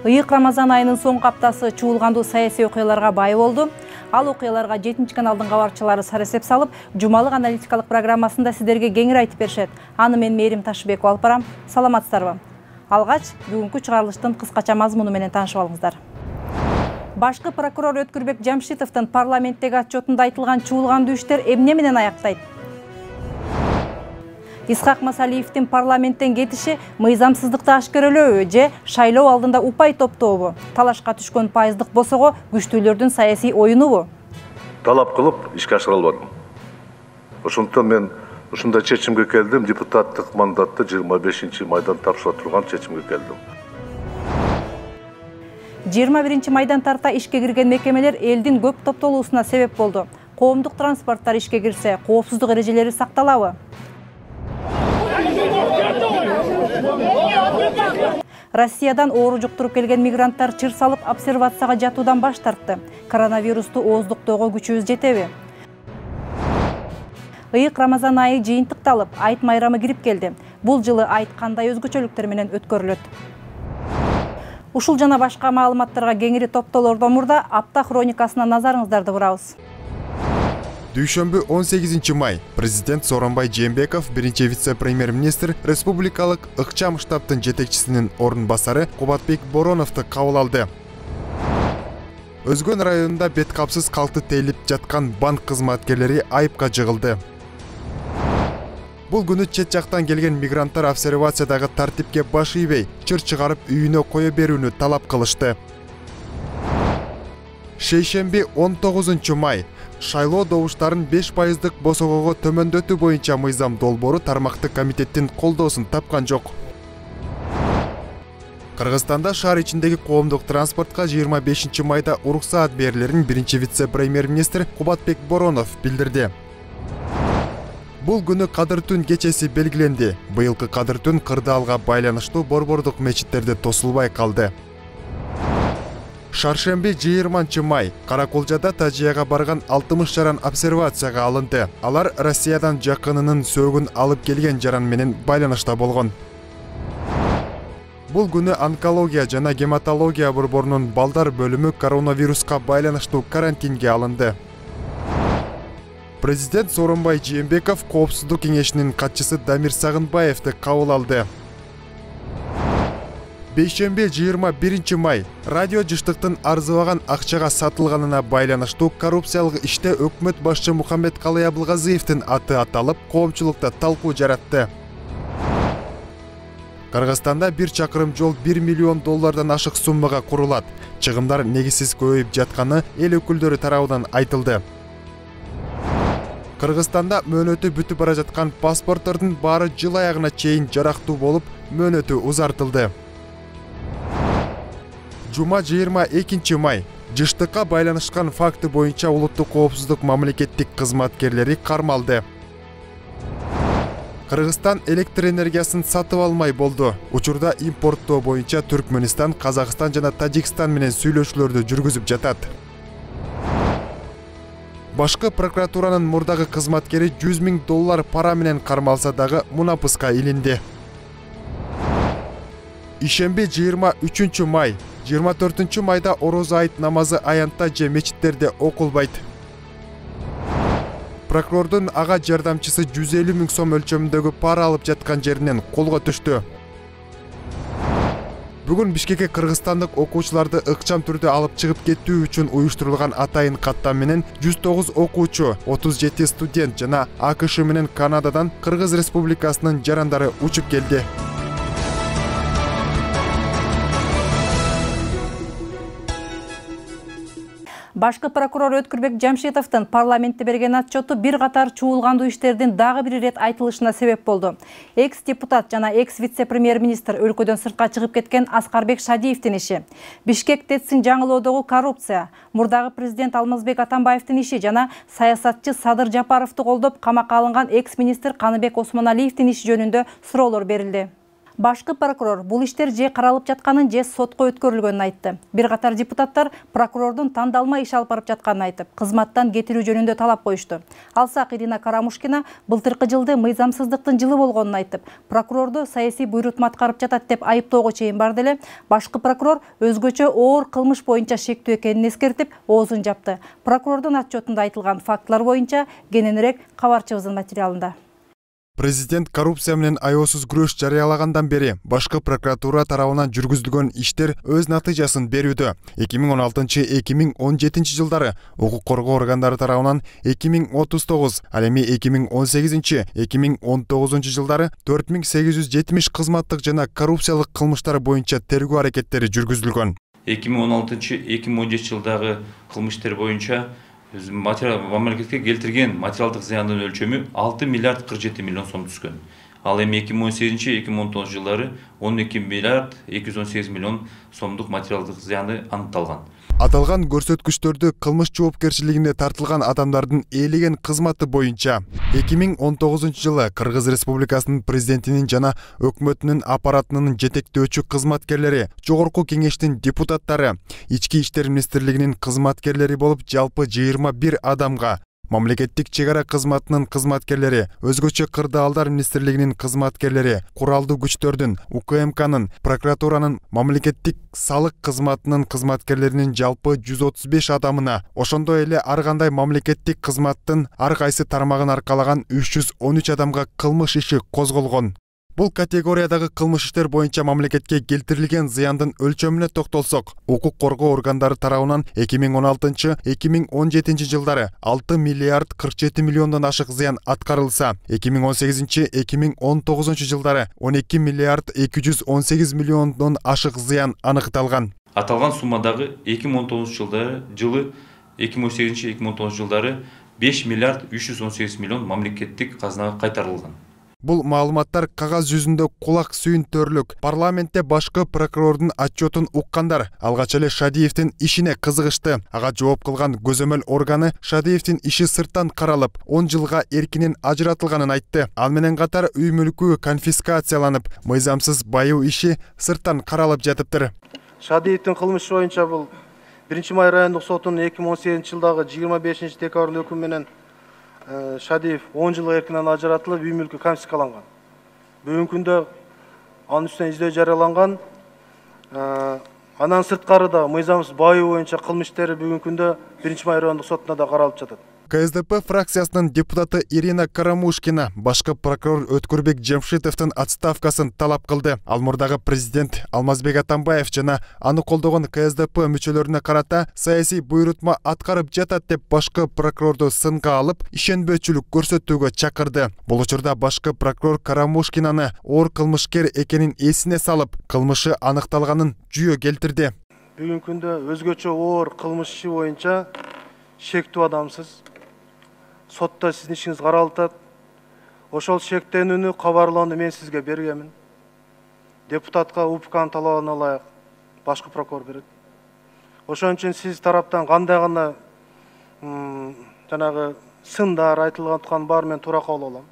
Ыйык Рамазан айынын соңку аптасы чуулгандуу саясий окуяларга бай болду. Ал окуяларга 7 каналдын кабарчылары сарасеп салып, жумалык аналитикалык программасында сиздерге кеңири айтып беришет. Аны мен Мээрим Ташыбекова алып барам. Саламатсыздарбы? Алгач, бүгүнкү чыгарылыштын кыскача мазмуну менен таанышып алыңыздар. Башкы прокурор Өткүрбек Жамшитовдун парламенттеги отчетунда айтылган чуулгандуу иштер эмне менен аяктайт? Исхак Масалиевдин парламенттен кетиши мыйзамсыздыкты ашкерелөөбү же шайлоо алдында упай топтобу? Талашка түшкөн пайыздык босого күчтүүлөрдүн саясий оюнубу? Талап кылып ишке ашыра албадым. Ошондуктан мен ушундай чечимге келдим, депутаттык мандатты 25-майдан тапшыра турган чечимге келдим. 21-майдан тарта ишке кирген мекемелер элдин көп топтолуусуна себеп болду. Коомдук транспорттор ишке кирсе, коопсуздук эрежелери сакталабы? Россиядан оору жуктуруп келген мигранттар чыр салып обсервацияга жатуудан баш тартты. Коронавирусту ооздуктоого күчүбүз жетеби? Ыйык Рамазан айы жыйынтыкталып, айт майрамы кирип келди. Бул жылы айт кандай өзгөчөлүктөр менен өткөрүлөт? Ушул жана башка маалыматтарга кеңири топтолордон мурда апта хроникасына назарыңыздарды бурабыз. Дүйшөмбү 18 май президент Сооронбай Жээнбеков, биринчи вице-премьер-министр, республикалык ыкчам штабтын жетекчисинин орун басары Кубатбек Бороновду кабыл алды. Өзгөн районунда бет капсыз калкты тейлип жаткан банк кызматкерлери айыпка жыгылды. Бул күнү чет жактан келген мигранттар обсервациядагы тартипке баш ийбей, чыр чыгарып үйүнө кое берүүнү талап кылышты. Шейшемби 19 май шайлоо добуштарын 5% босогого төмөндөтүү боюнча мыйзам долбоору тармактык комитеттин колдоосун тапкан жок. Кыргызстанда шаар ичиндеги коомдук транспортко 25 майда уруксаат берилерин биринчи вице-премьер-министр Кубатбек Боронов билдирди. Бул күнү Кадыр түн кечеси белгиленди. Быйылкы Кадыр түн кырдаалга байланыштуу борбордук мечиттерде тосулбай калды. Шаршемби 20 май Караколжада Тажияга барган 60 жаран обсервацияга алынды. Алар Россиядан жакынынын сөөгүн алып келген жаран менен байланышта болгон. Бул күнү онкология жана гематология борборунун балдар бөлүмү коронавируска байланыштуу карантинге алынды. Президент Сооронбай Жээнбеков коопсуздук кеңешинин катчысы Дамир Сагынбаевди кабыл алды. Бейшемби 21 май радио жыштыктын арзыбаган акчага сатылганына байланыштуу коррупциялык иште өкмөт башчы Мухаммедкалый Абылгазиевдин аты аталып, коомчулукта талкуу жаратты. Кыргызстанда 1 чакырым жол $1 миллион ашык суммага курулат. Чыгымдар негизсиз көбөйүп жатканы эл өкүлдөрү тарабынан айтылды. Кыргызстанда мөөнөтү бүтүп бара жаткан паспорттордун баары жыл аягына чейин жарактуу болуп, мөөнөтү узартылды. Жума 22 май жыштыкка байланышкан факты боюнча улуттук коопсуздук мамлекеттик кызматкерлери кармалды. Кыргызстан электр энергиясын сатып алмай болду. Учурда импорттоо боюнча Түркмөнстан, Казакстан жана Тажикстан менен сүйлөшүүлөрдү жүргүзүп жатат. Башкы прокуратуранын мурдагы кызматкери $100 000 пара менен кармалса дагы мунапыска илинди. Ишемби 23 май 24 майда орозо айт намазы аянтта же мечиттерде окулбайт. Прокурордун ага жардамчысы 150 000 сом өлчөмүндөгү пара алып жаткан жеринен колго түштү. Бүгүн Бишкекке кыргызстандык окуучуларды ыкчам түрдө алып чыгып кетүү үчүн уюштурулган атайын каттам менен 109 окуучу, 37 студент жана АКШ менен Канададан Кыргыз Республикасынын жарандары учуп келди. Башкы прокурор Өткүрбек Жамшитовдун парламентте берген отчету бир катар чуулгандуу иштердин дагы бир ирет айтылышына себеп болду. Экс-депутат жана экс-вице-премьер-министр өлкөдөн сыртка чыгып кеткен Аскарбек Шадиевдин иши, Бишкек ТЭЦ-ин жаңылоодогу коррупция, мурдагы президент Алмазбек Атамбаевдин иши жана саясатчы Садыр Жапаровду колдоп камакка алынган экс-министр Каныбек Осмоналиевдин иши жөнүндө суроолор берилди. Башкы прокурор бул иштер же каралып жатканын, же сотко өткөрүлгөнүн айтты. Бир катар депутаттар прокурордун тандалма иш алып барып жатканын айтып, кызматтан кетирүү жөнүндө талап коюшту. Алсак Ирина Карамушкина былтыркы жылды мыйзамсыздыктын жылы болгонун айтып, прокурорду саясий буйрутма аткарып жатат деп айыптоого чейин барды эле. Башкы прокурор өзгөчө оор кылмыш боюнча шектүү экенин эскертип, оозун жапты. Прокурордун отчетунда айтылган фактылар боюнча кененирээк кабарчыбыздын материалында. Президент коррупция менен аяосуз күрөш жарыялагандан бери башкы прокуратура тарабынан жүргүзүлгөн иштер өз натыйжасын берүүдө. 2016-2017 жылдары укук коргоо органдары тарабынан 2039, ал эми 2018-2019 жылдары 4870 кызматтык жана коррупциялык кылмыштар боюнча тергөө аракеттери жүргүзүлгөн. 2016-2017 жылдагы кылмыштар боюнча мамлекетке келтирген материалдык зыяндын өлчөмү 6 миллиард 47 миллион сом түскөн. Ал эми 2018-2019 жылдары 12 миллиард 218 миллион сомдук материалдык зыяны аныкталган. Аталган көрсөткүчтөрдү кылмыш жоопкерчилигине тартылган адамдардын ээлеген кызматы боюнча 2019 жылы Кыргыз Республикасынын президентинин жана өкмөтүнүн аппаратынын жетектөөчү кызматкерлери, Жогорку кеңештин депутаттары, Ички иштер министрлигинин кызматкерлери болуп жалпы 21 адамга, Мамлекеттик чегара кызматынын кызматкерлери, өзгөчө кырдаалдар министрлигинин кызматкерлери, куралдуу күчтөрдүн, УКМКнын, прокуратуранын, мамлекеттик салык кызматынын кызматкерлеринин жалпы 135 адамына, ошондой эле ар кандай мамлекеттик кызматтын ар кайсы тармагын аркалаган 313 адамга кылмыш иши козголгон. Бул категориядагы кылмыш иштер боюнча мамлекетке келтирилген зыяндын өлчөмүнө токтолсок, укук коргоо органдары тарабынан 2016-2017 жылдары 6 миллиард 47 миллиондон ашык зыян аткарылса, 2018-2019 жылдары 12 миллиард 218 миллиондон ашык зыян аныкталган. Аталган суммадагы 2019 жылы 2018-2019 жылдары 5 миллиард 318 миллион мамлекеттик казынага кайтарылган. Бул маалыматтар кагаз жүзүндө кулак сүйүнтөрлүк. Парламентте башкы прокурордун отчетун уккандар алгач эле Шадиевдин ишине кызыгышты. Ага жооп кылган көзөмөл органы Шадиевдин иши сырттан каралып, 10 жылга эркинен ажыратылганын айтты. Ал менен катар үй мүлкү конфискацияланып, мыйзамсыз байуу иши сырттан каралып жатыптыр. Шадиевдин кылмышы боюнча бул 1-май райондук сотунун 2018 жылдагы 25 декабрдын өкүмү менен Шадиев 10 жылга эркинен ажыратылып, үй мүлкү конфискаланган. Бүгүнкү күндө анын үстүнөн издөө жарыяланган. Андан сырткары да мыйзамсыз байуу боюнча кылмыш иштери бүгүнкү күндө 1-май райондук сотуна да каралып жатат. КСДП фракциясынын депутаты Ирина Карамушкина башкы прокурор Өткүрбек Жемшитовдун отставкасын талап кылды. Ал мурдагы президент Алмазбек Атамбаев жана аны колдогон КСДП мүчөлөрүнө карата саясий буйрутма аткарып жатат деп башкы прокурорду сынга алып, ишенбөөчүлүк көрсөтүүгө чакырды. Бул учурда башкы прокурор Карамушкинаны оор кылмышкер экенин эсине салып, кылмышы аныкталганын жүйө келтирди. Бүгүнкү күндө өзгөчө оор кылмыш иши боюнча шектүү адамсыз сотто сиздин ишиңиз каралып атат. Ошол шектенүүнү кабарлоону мен сизге бергенмин. Депутатка УПКнын талабына ылайык башкы прокурор берет. Ошон үчүн сиз тараптан кандай гана жанагы сындар айтылган баары мен туура кабыл алам.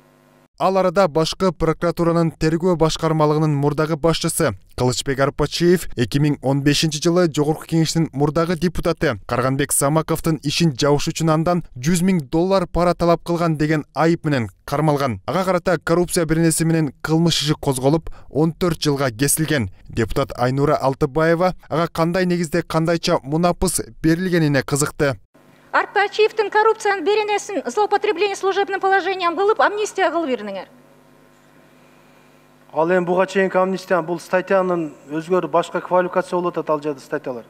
Ал арада башкы прокуратуранын тергөө башкармалыгынын мурдагы башчысы Кылычбек Арпачиев 2015 жылы Жогорку кеңештин мурдагы депутаты Карганбек Самаковдун ишин жабыш үчүн андан $100,000 пара талап кылган деген айып менен кармалган. Ага карата коррупция беренеси менен кылмыш иши козголуп, 14 жылга кесилген. Депутат Айнура Алтыбаева ага кандай негизде кандайча мунапыс берилгенине кызыкты. Арпачиевдин коррупциянын беренесин злоупотребление служебным положением кылып, амнистия кылып бериңер. Ал эми буга чейинки амнистия бул статьянын өзгөрүп башка квалификация болуп атат ал жерде статьялар.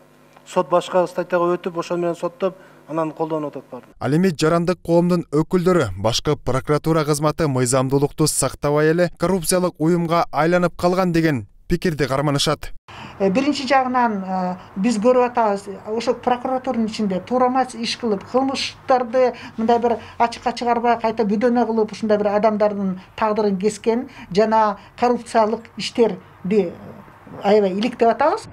Сот башка статьяга өтүп, ошол менен соттоп, анан колдонуп атат баары. Ал эми жарандык коомдун өкүлдөрү башкы прокуратура кызматы мыйзамдуулукту сактабай эле коррупциялык уюмга айланып калган деген пикирди карманышат. Биринчи жагынан биз көрүп атабыз, ошо прокуратуранын ичинде туурамас иш кылып, кылмыштарды мындай бир ачыкка чыгарбай кайта бүдөнө кылып, ушундай бир адамдардын тагдырын кескен жана коррупциялык иштерди аябай иликтеп атабыз.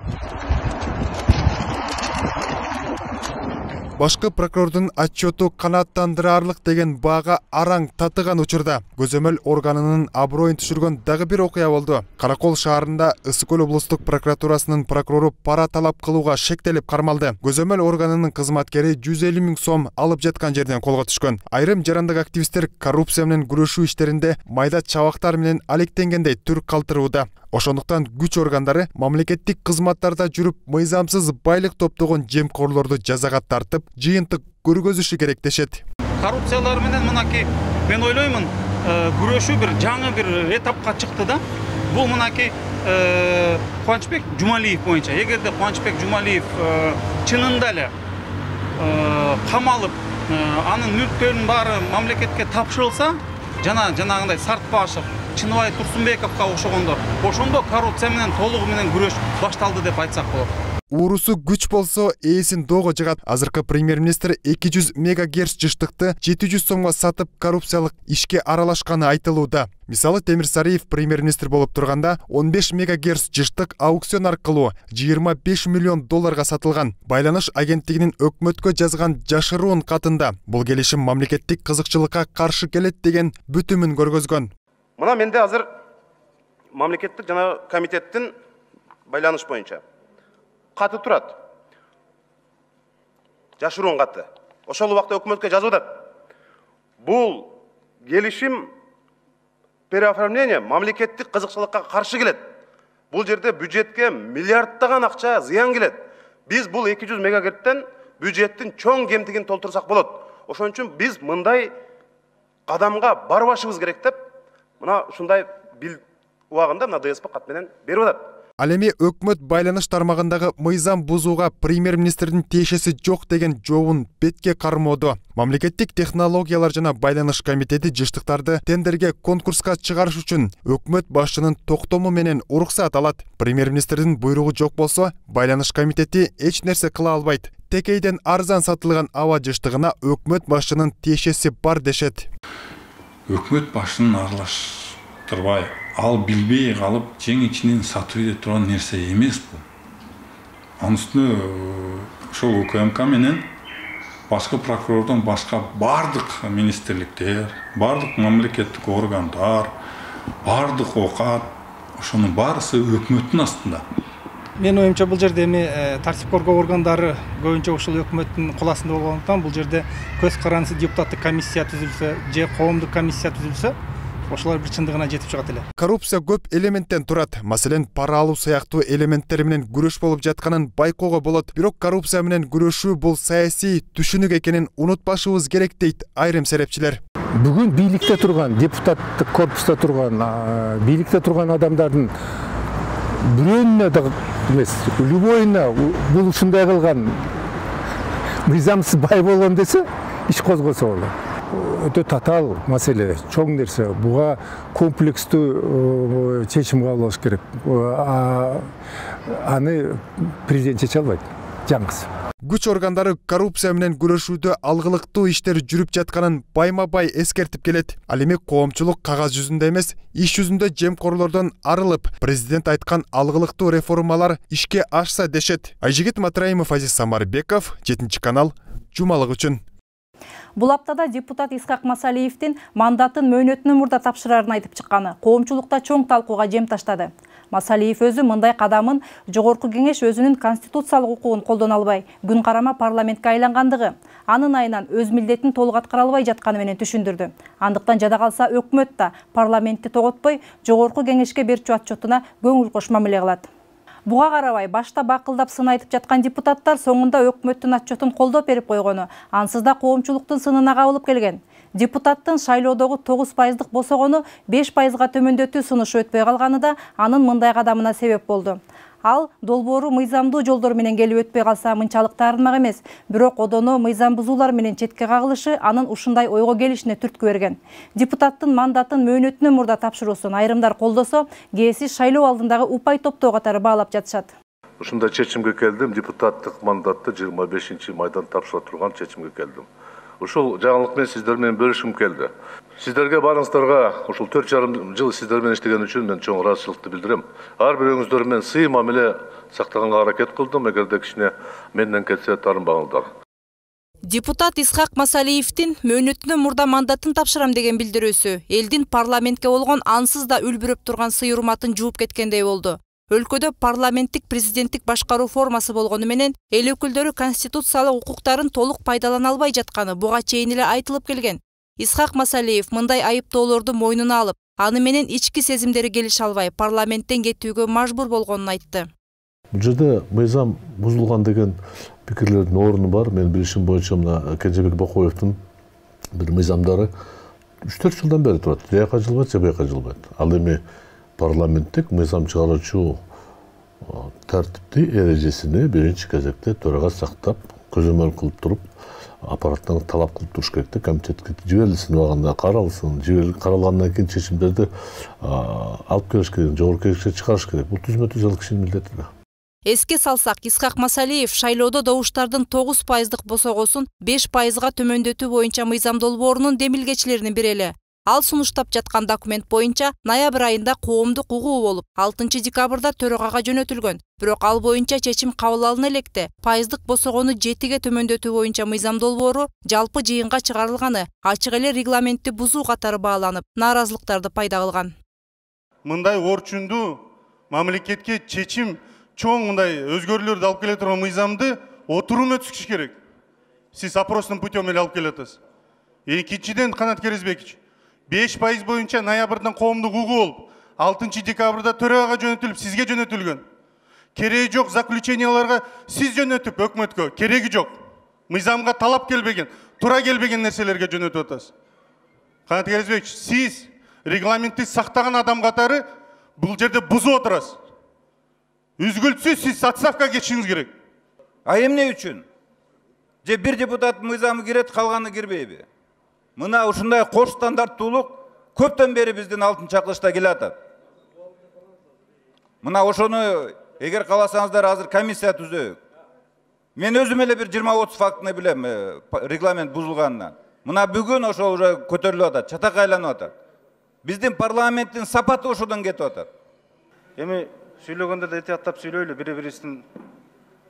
Башкы прокурордун отчету канааттандырарлык деген баага араң татыган учурда көзөмөл органынын аброюн түшүргөн дагы бир окуя болду. Каракол шаарында Ысык Көл облустук прокуратурасынын прокурору пара талап кылууга шектелип кармалды. Көзөмөл органынын кызматкери 150 000 сом алып жаткан жерден колго түшкөн. Айрым жарандык активисттер коррупция менен күрөшүү иштеринде майда чабактар менен алектенгендей түр калтырууда. Ошондуктан күч органдары мамлекеттик кызматтарда жүрүп мыйзамсыз байлык топтогон жемкорлорду жазага тартып, жыйынтык көргөзүшү керек дешет. Коррупциялар менен мынакей мен ойлоймун, күрөшүү бир жаңы бир этапка чыкты да. Бул мынакей Кубанычбек Жумалиев боюнча. Эгерде Кубанычбек Жумалиев чынында эле камалып, анын мүлктөрүнүн баары мамлекетке тапшырылса, жанагындай Сартбашев, Чыныбай Турсунбековго окшогондор, ошондо коррупция менен толугу менен күрөш башталды деп айтсак болот. Уурусу күч болсо ээсин доого жыгат. Азыркы премьер-министр 200 мегагерц жыштыкты 700 сомго сатып коррупциялык ишке аралашканы айтылууда. Мисалы Темир Сариев премьер-министр болуп турганда 15 мегагерц жыштык аукцион аркылуу 25 миллион долларга сатылган. Байланыш агенттигинин өкмөткө жазган жашыруун катында бул келишим мамлекеттик кызыкчылыкка каршы келет деген бүтүмүн көргөзгөн. Мына менде азыр мамлекеттик жана комитеттин байланыш боюнча каты турат. Жашыруун каты. Ошол убакта өкмөткө жазып атат. Бул келишим переоформление мамлекеттик кызыкчылыкка каршы келет. Бул жерде бюджетке миллиарддаган акча зыян келет. Биз бул 200 мегагерттен бюджеттин чоң кемтигин толтурсак болот. Ошон үчүн биз мындай кадамга барбашыбыз керек деп мына ушундай бил убагында мына ДСП кат менен берип атат. Ал эми өкмөт байланыш тармагындагы мыйзам бузууга премьер-министрдин тиешеси жок деген жообун бетке кармоодо. Мамлекеттик технологиялар жана байланыш комитети жыштыктарды тендерге конкурска чыгарыш үчүн өкмөт башчынын токтому менен уруксат алат. Премьер-министрдин буйругу жок болсо, байланыш комитети эч нерсе кыла албайт. Текейден арзан сатылган аба жыштыгына өкмөт башчынын тиешеси бар дешет. Өкмөт башчынын аралаштырбай, ал билбей калып жең-ичинен сатып иде турган нерсе эмес бул. Анын үстүнө ошол УКМК менен башкы прокурордон башка бардык министрликтер, бардык мамлекеттик органдар, бардык окат, ошонун баарысы өкмөттүн астында. Мен оюмча бул жерде эми тартип коргоо органдары көбүнчө ушул өкмөттүн кол астында болгондуктан бул жерде көз карандысыз депутаттык комиссия түзүлсө же коомдук комиссия түзүлсө, ошолор бир чындыгына жетип чыгат эле. Коррупция көп элементтен турат. Маселен, пара алуу сыяктуу элементтер менен күрөш болуп жатканын байкоого болот. Бирок коррупция менен күрөшүү бул саясий түшүнүк экенин унутпашыбыз керек дейт айрым серепчилер. Бүгүн бийликте турган, депутаттык корпуста турган, бийликте турган адамдардын бирөөнүнө да эмес, любойуна бул ушундай кылган мыйзамсыз бай болгон десе, иш козгосо болот. Өтө татаал маселе, чоң нерсе. Буга комплекстүү чечим кабылыш керек. Аны президент чече албайт. Жаңгыз. Күч органдары коррупция менен күрөшүүдө алгылыктуу иштер жүрүп жатканын байма-бай эскертип келет. Ал эми коомчулук кагаз жүзүндө эмес, иш жүзүндө жемкорлордон арылып, президент айткан алгылыктуу реформалар ишке ашса дешет. Айжигит Матраимов, Азиз Самарбеков, 7 канал, жумалык үчүн. Бул аптада депутат Исхак Масалиевдин мандатын мөөнөтүнөн мурда тапшырарын айтып чыкканы коомчулукта чоң талкууга жем таштады. Масалиев өзү мындай кадамын жогорку кеңеш өзүнүн конституциялык укугун колдоно албай, күн карама парламентке айлангандыгы, анын айынан өз милдетин толук аткара албай жатканы менен түшүндүрдү. Андыктан жада калса өкмөт да парламентти тоготпой, жогорку кеңешке берчү отчетуна көңүл кош мамиле кылат. Буга карабай башта бакылдап сын айтып жаткан депутаттар соңунда өкмөттүн отчетун колдоп берип койгону, ансыз да коомчулуктун сынына кабылып келген. Депутаттын шайлоодогу 9% босогону 5%га төмөндөтүү сунушу өтпөй калганы да анын мындай кадамына себеп болду. Ал долбоору мыйзамдуу жолдор менен келип өтпөй калса мынчалык таарынмак эмес, бирок одоно мыйзам бузуулар менен четке кагылышы анын ушундай ойго келишине түрткү берген. Депутаттын мандатын мөөнөтүнөн мурда тапшыруусун айрымдар колдосо, кээси шайлоо алдындагы упай топтоо катары баалап жатышат. Ушундай чечимге келдим, депутаттык мандатты 25 майдан тапшыра турган чечимге келдим. Ушул жаңылык менен сиздер менен бөлүшүм келди. Сиздерге баарыңыздарга ушул 4,5 жыл сиздер менен иштеген үчүн мен чоң ыраазычылыкты билдирем. Ар бирөөңүздөр менен сый мамиле сактаганга аракет кылдым, эгерде кичине менден кетсе таарынбаңыздар. Депутат Исхак Масалиевдин мөөнөтүнөн мурда мандатын тапшырам деген билдирүүсү элдин парламентке болгон ансыз да үлбүрөп турган сый урматын жууп кеткендей болду. Өлкөдө парламенттик президенттик башкаруу формасы болгону менен эл өкүлдөрү конституциялык укуктарын толук пайдалана албай жатканы буга чейин эле айтылып келген. Исхак Масалиев мындай айыптоолорду мойнуна алып, аны менен ички сезимдери келише албай парламенттен кетүүгө мажбур болгонун айтты. Бул жерде мыйзам бузулган деген пикирлердин орну бар. Мен билишим боюнча мына Кенжебек Бакоевдин бир мыйзамдары 3-4 жылдан бери турат. Жаяка жылбайт, же бияка жылбайт. Ал эми парламенттик мыйзам чыгаруучу тартипти эрежесини биринчи кезекте төрага сактап, көзөмөл кылып туруп, аппараттан талап кылып туруш керек да, комитетке жиберилсин, убагында каралсын, каралгандан кийин чечимдерди алып келиш керек, жогорку кеңешке чыгарыш керек. Бул түзмө-түз ал кишинин милдети да. Эске салсак, Исхак Масалиев шайлоодо добуштардын 9%дык босогосун 5%га төмөндөтүү боюнча мыйзам долбоорунун демилгечилеринин бири эле. Ал сунуштап жаткан документ боюнча ноябрь айында коомдук угуу болуп, 6 декабрда төрагага жөнөтүлгөн. Бирок ал боюнча чечим кабыл алына электе пайыздык босогону 7ге төмөндөтүү боюнча мыйзам долбоору жалпы жыйынга чыгарылганы ачык эле регламентти бузуу катары бааланып, нааразылыктарды пайда кылган. Мындай орчундуу мамлекетке чечим чоң мындай өзгөрүүлөрдү алып келе турган мыйзамды отурум өткүзүш керек. Сиз опростун путем эле алып келатасыз. Экинчиден, Канат Керезбекович, 5% боюнча ноябрдан коомдук угуу болуп, 6 декабрда төрагага жөнөтүлүп, сизге жөнөтүлгөн. Кереги жок заключенияларга сиз жөнөтүп өкмөткө кереги жок. Мыйзамга талап келбеген, тура келбеген нерселерге жөнөтүп атасыз. Канат Керезбекович, сиз регламентти сактаган адам катары бул жерде бузуп отурасыз. Үзгүлтсүз сиз отставкага кетишиңиз керек. А эмне үчүн? Же бир депутат мыйзамы кирет, калганы кирбейби? Мына ушундай кош стандарттуулук көптөн бери биздин алтын чакылышта келе атат. Мына ошону эгер кааласаңыздар азыр комиссия түзөйүк. Мен өзүм эле бир 20-30 фактыны билем регламент бузулганынан. Мына бүгүн ошол уже көтөрүлүп атат, чатакка айланып атат. Биздин парламенттин сапаты ошодон кетип атат. Эми сүйлөгөндө да этияттап сүйлөйлү, бири-бирибиздин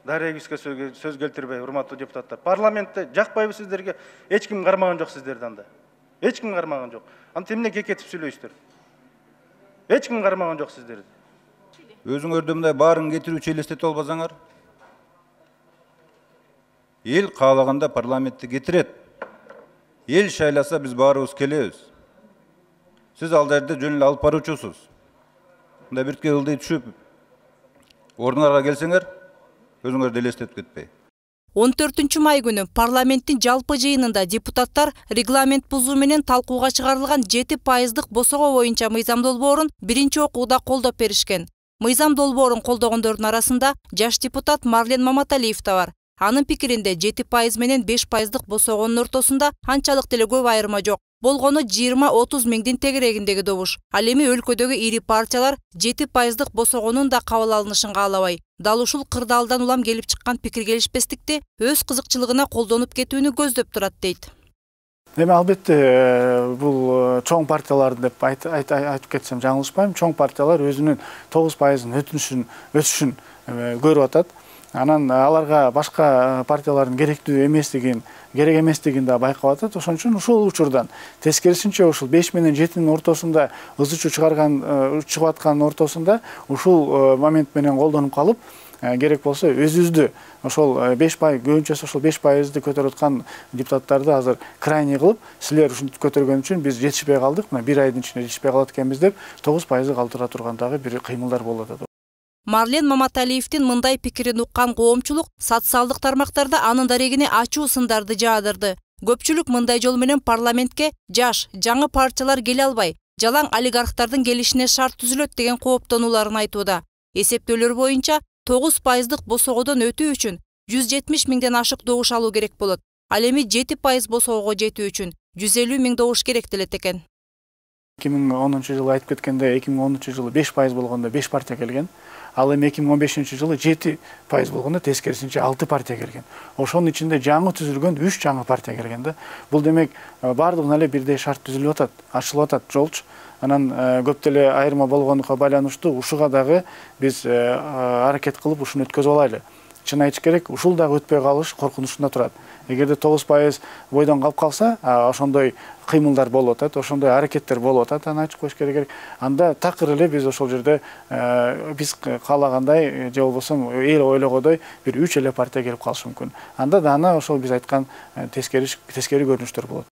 дарегибизге сөз келтирбей, урматтуу депутаттар. Парламентте жакпайбы сиздерге? Эч ким кармаган жок сиздерди анда. Эч ким кармаган жок. Антип эмне кекетип сүйлөйсүздөр? Эч ким кармаган жок сиздерди. Өзүңөрдө мындай баарын кетирүүчү элестетип албасаңар, эл каалаганда парламентти кетирет. Эл шайласа биз баарыбыз келебиз. Сиз ал жерде жөн эле алып баруучусуз. Мындай биртке ылдый түшүп, ордуңарга келсеңер, өзүңөрдү элестетип кетпей. 14 май күнү парламенттин жалпы жыйынында депутаттар регламент бузуу менен талкууга чыгарылган 7%дык босого боюнча мыйзам долбоорун биринчи окууда колдоп беришкен. Мыйзам долбоорун колдогондордун арасында жаш депутат Марлен Маматалиев да бар. Анын пикиринде 7% менен 5%дык босогонун ортосунда анчалык деле көп айырма жок. Болгону 20-30 миңдин тегерегиндеги добуш. Ал эми өлкөдөгү ири партиялар 7%дык босогонун да кабыл алынышын каалабай, дал ушул кырдаалдан улам келип чыккан пикир келишпестикти өз кызыкчылыгына колдонуп кетүүнү көздөп турат дейт. Эми албетте бул чоң партиялар деп айтып кетсем жаңылышпайм. Чоң партиялар өзүнүн 9%-ын өсүшүн көрүп атат. Анан аларга башка партиялардын керек эместигин да байкап атат. Ошон үчүн ушул учурдан тескерисинче ушул 5 менен 7-нин ортосунда ызычуу чыгып аткан ортосунда ушул момент менен колдонуп калып, керек болсо өзүбүздү ошол 5%, көбүнчөсү ошол 5%ды көтөрүп аткан депутаттарды азыр крайний кылып, силер ушинтип көтөргөн үчүн биз жетишпей калдык, мына 1 айдын ичинде жетишпей калат экенбиз деп 9%ды калтыра турган дагы бир кыймылдар болуп атат. Марлен Маматалиевдин мындай пикирин уккан коомчулук социалдык тармактарда анын дарегине ачуу сындарды жаадырды. Көпчүлүк мындай жол менен парламентке жаш, жаңы партиялар келе албай, жалаң олигархтардын келишине шарт түзүлөт деген кооптонууларын айтууда. Эсептөөлөр боюнча 9%дык босогодон өтүү үчүн 170 миңден ашык добуш алуу керек болот. Ал эми 7% босогого жетүү үчүн 150 миң добуш керектелет экен. 2010-жылы айтып кеткенде 2010-жылы 5% болгондо 5 партия келген. Ал эми 2015-жылы 7% болгондо тескерисинче 6 партия келген. Ошонун ичинде жаңы түзүлгөн 3 жаңы партия келген да. Бул демек бардыгына эле бирдей шарт түзүлүп атат, ачылып атат жолчу. Анан көп деле айырма болгонуна байланыштуу ушуга дагы биз аракет кылып ушуну өткөзүп алайлы. Чын айтыш керек, ушул дагы өтпөй калыш коркунучунда турат. эгерде 9% бойдон калып калса, ошондой кыймылдар болуп атат, ошондой аракеттер болуп атат, аны ачык коюш керек. Анда такыр эле биз ошол жерде биз каалагандай же болбосо эл ойлогодой бир 3 эле партия келип калышы мүмкүн. Анда да аны ошол биз айткан тескери көрүнүштөр болот.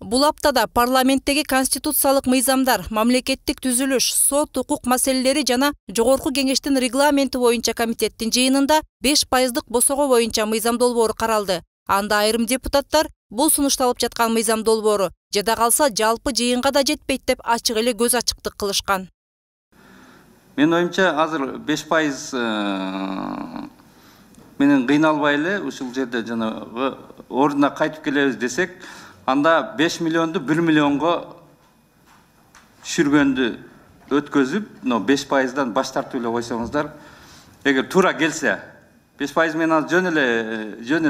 Бул аптада парламенттеги конституциялык мыйзамдар, мамлекеттик түзүлүш, сот, укук маселелери жана жогорку кеңештин регламенти боюнча комитеттин жыйынында 5% босого боюнча мыйзам долбоору каралды. Анда айрым депутаттар бул сунушталып жаткан мыйзам долбоору жада калса жалпы жыйынга да жетпейт деп ачык эле көз ачыктык кылышкан. Менин оюмча азыр 5% менен кыйналбай эле ушул жерде жанагы ордуна кайтып келебиз десек, анда 5 миллионду 1 миллионго түшүргөндү өткөзүп, 5%дан баш тартып эле койсоңуздар, эгер туура келсе 5% менен аз жөн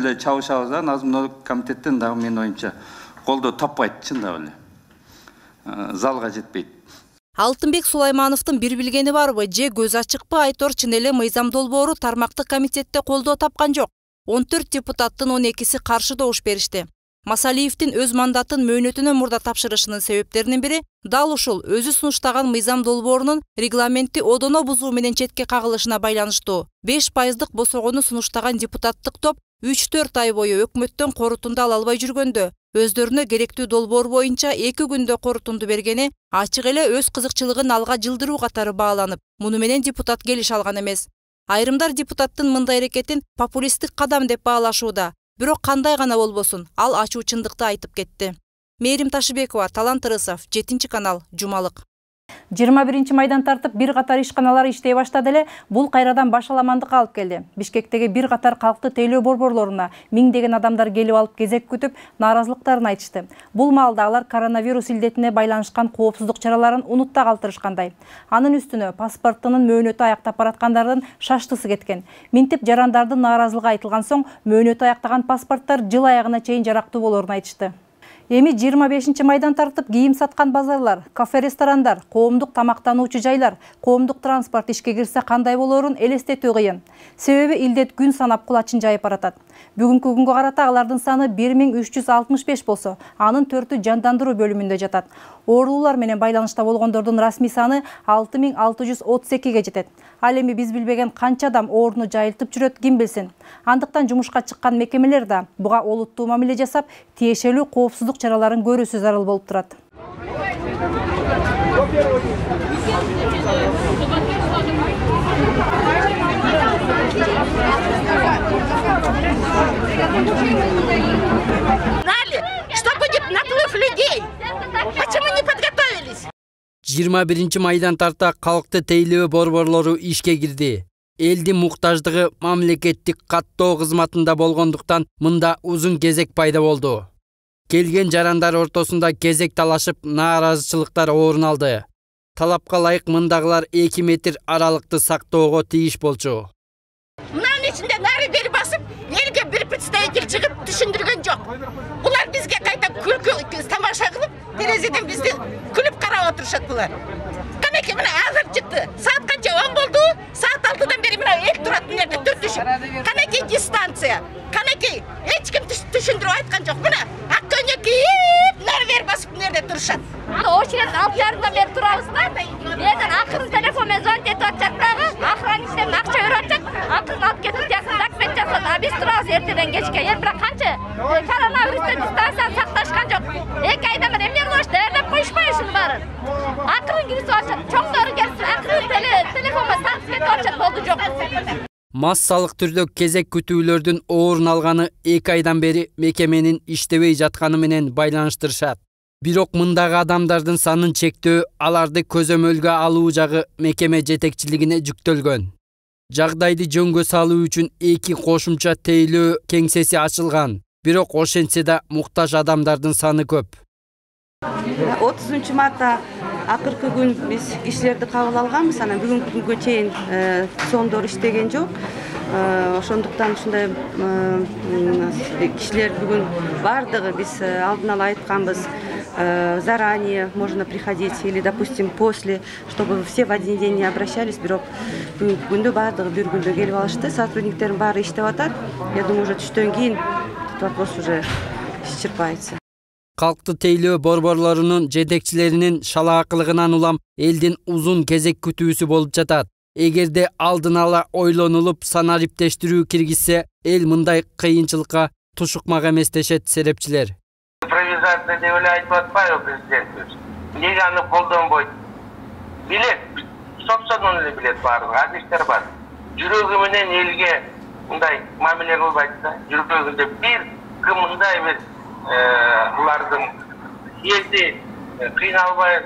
эле чабышабыз да, Назмдоо комитеттен дагы менин оюмча колдоо таппайт, чындап эле. Залга жетпейт. Алтынбек Сулаймановдун бир билгени барбы же көз ачыкпы, айтор чын эле мыйзам долбоору тармактык комитетте колдоо тапкан жок. 14 депутаттын 12-си каршы добуш беришти. Масалиевдин өз мандатын мөөнөтүнөн мурда тапшырышынын себептеринин бири дал ушул өзү сунуштаган мыйзам долбоорунун регламентти одоно бузуу менен четке кагылышына байланыштуу. 5% босогону сунуштаган депутаттык топ 3-4 ай бою өкмөттөн корутунду ала албай жүргөндө, өздөрүнө керектүү долбоор боюнча 2 күндө корутунду бергени ачык эле өз кызыкчылыгын алга жылдыруу катары бааланып, муну менен депутат келише алган эмес. Айрымдар депутаттын мындай аракетин популисттик кадам деп баалашууда. Бирок кандай гана болбосун, ал ачуу чындыкты айтып кетти. Мээрим Ташыбекова, Талант Ырысов, 7 канал, Жумалык. 21 майдан тартып бир катар ишканалар иштей баштады эле, бул кайрадан башаламандыкка алып келди. Бишкектеги бир катар калкты тейлөө борборлоруна миңдеген адамдар келип алып кезек күтүп, нааразылыктарын айтышты. Бул маалда алар коронавирус илдетине байланышкан коопсуздук чараларын унутта калтырышкандай. Анын үстүнө паспорттунун мөөнөтү аяктап бараткандардын шаштысы кеткен. Минтип жарандардын нааразылыгы айтылган соң, мөөнөтү аяктаган паспорттор жыл аягына чейин жарактуу болоорун айтышты. Эми 25 майдан тартып кийим саткан базарлар, кафе-ресторандар, коомдук тамактануучу жайлар, коомдук транспорт ишке кирсе кандай болоорун элестетүү кыйын. Себеби илдет күн санап кулачын жайып баратат. Бүгүнкү күнгө карата алардын саны 1365 болсо, анын 4-ү жандандыруу бөлүмүндө жатат. Оорулуулар менен байланышта болгондордун расмий саны 6632-ге жетет. Ал эми биз билбеген канча адам ооруну жайылтып жүрөт, ким билсин. Андыктан жумушка чыккан мекемелер да буга олуттуу мамиле жасап, тиешелүү коопсуздук чараларын көрүүсү зарыл болуп турат. Что будет наплыв людей? Почему не подготовились? 21 майдан тарта калкты тейлөө борборлору ишке кирди. Элдин муктаждыгы мамлекеттик каттоо кызматында болгондуктан мында узун кезек пайда болду. Келген жарандар ортосунда кезек талашып, нааразычылыктар орун алды. Талапка ылайык мындагылар 2 метр аралыкты сактоого тийиш болчу. Мынанын ичинде нары бери басып, элге бир представитель чыгып түшүндүргөн жок. Булар бизге кайта күлкү тамаша кылып, терезеден бизди күлүп карап отурушат булар. Канеки мына азыр чыкты. Саат канча 10 болду? Саат 6-дан бери мына эл турат мына жерде түр түшүп. Канеки дистанция. Канеки эч ким түшүндүрүп айткан жок. Мына ак көйнөккө нары бери басып мына жерде турушат. Очередь алып жарымдан бери турабыз да. Менен акырын телефон менен звонить этип атышат дагы. Охранниктен акча берип атышат. Акырын алып кетип жакын документ жасат. А биз турабыз эртеден кечке. Бирок канча коронавирустан дистанцияны сакташкан жок. 2 айдан бери эмне кылып даярдап коюшпайбы ушунун баарын? Акырын кирип атышат. Чоңдору келсин, акырын телефон менен тартып кетип атышат. Болду жок. Массалык түрдө кезек күтүүлөрдүн орун алганы 2 айдан бери мекеменин иштебей жатканы менен байланыштырышат. Бирок мындагы адамдардын санын чектөө аларды көзөмөлгө алуу жагы мекеме жетекчилигине жүктөлгөн. Жагдайды жөнгө салуу үчүн 2 кошумча тейлөө кеңсеси ачылган. Бирок ошентсе да муктаж адамдардын саны көп. 30 мартта акыркы күн биз кишилерди кабыл алганбыз, анан бүгүнкү күнгө чейин соңдор иштеген жок. Ошондуктан ушундай кишилер бүгүн бардыгы биз алдын ала айтканбыз. Заранее можно приходить или, допустим, после, чтобы все в один день не обращались. Бирок бүгүнкү күндө бардыгы бир күндө келип алышты. Сотрудниктердин баары иштеп атат. Я думаю, уже түштөн кийин этот вопрос уже исчерпается. Калкты тейлөө борборлорунун жетекчилеринин шалаакылыгынан улам элдин узун кезек күтүүсү болуп жатат. Эгерде алдын ала ойлонулуп санариптештирүү киргизсе, эл мындай кыйынчылыкка тушукмак эмес дешет серепчилер. Импровизация деп эле айтып атпайбы президентибиз? Эмнеге аны колдонбойт? Билет, собственно эле билет баардыгы, адистер бар. Жүрөгү менен элге мындай мамиле кылбайт да. Жүрөгүндө бир ким мындай бир булардын элди кыйналбай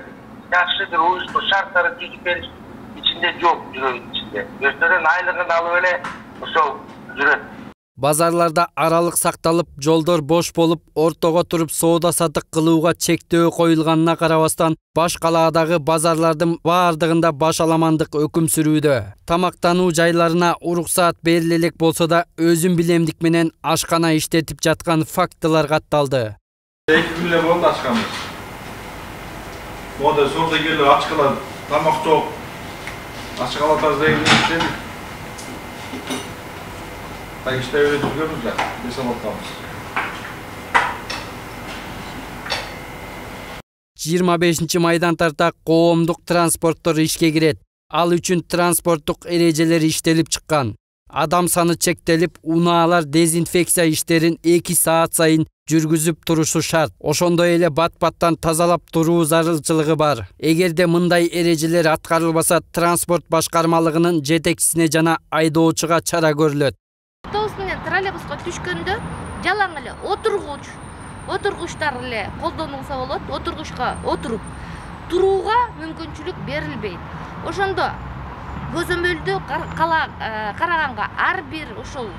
жакшы бир уюштуу шарттарды түзүп бериш ичинде жок, жүрөгүнүн ичинде. Өздөрүнүн айлыгын алып эле ошол жүрөт. Базарларда аралык сакталып, жолдор бош болуп, ортого туруп соода сатык кылууга чектөө коюлганына карабастан, баш калаадагы базарлардын баардыгында баш аламандык өкүм сүрүүдө. Тамактануу жайларына уруксаат бериле элек болсо да, өзүн билемдик менен ашкана иштетип жаткан фактылар катталды. 2 күн эле болду ачканбыз. Мода саудагерлер ачкалар, тамак жок. Ачкала тазалайбыз. Так иштеп жүргөнбүз да, эсептейбиз. 25 майдан тарта коомдук транспорттор ишке кирет. Ал үчүн транспорттук эрежелер иштелип чыккан. Адам саны чектелип, унаалар дезинфекция иштерин 2 саат сайын жүргүзүп турушу шарт. Ошондой эле бат-баттан тазалап туруу зарылчылыгы бар. Эгерде мындай эрежелер аткарылбаса, транспорт башкармалыгынын жетекчисине жана айдоочуга чара көрүлөт. Автобус менен троллейбуска түшкөндө жалаң эле отургучтар эле колдонулса болот. Отургучка отуруп турууга мүмкүнчүлүк берилбейт. Ошондо көзөмөлдү караганга ар бир ушул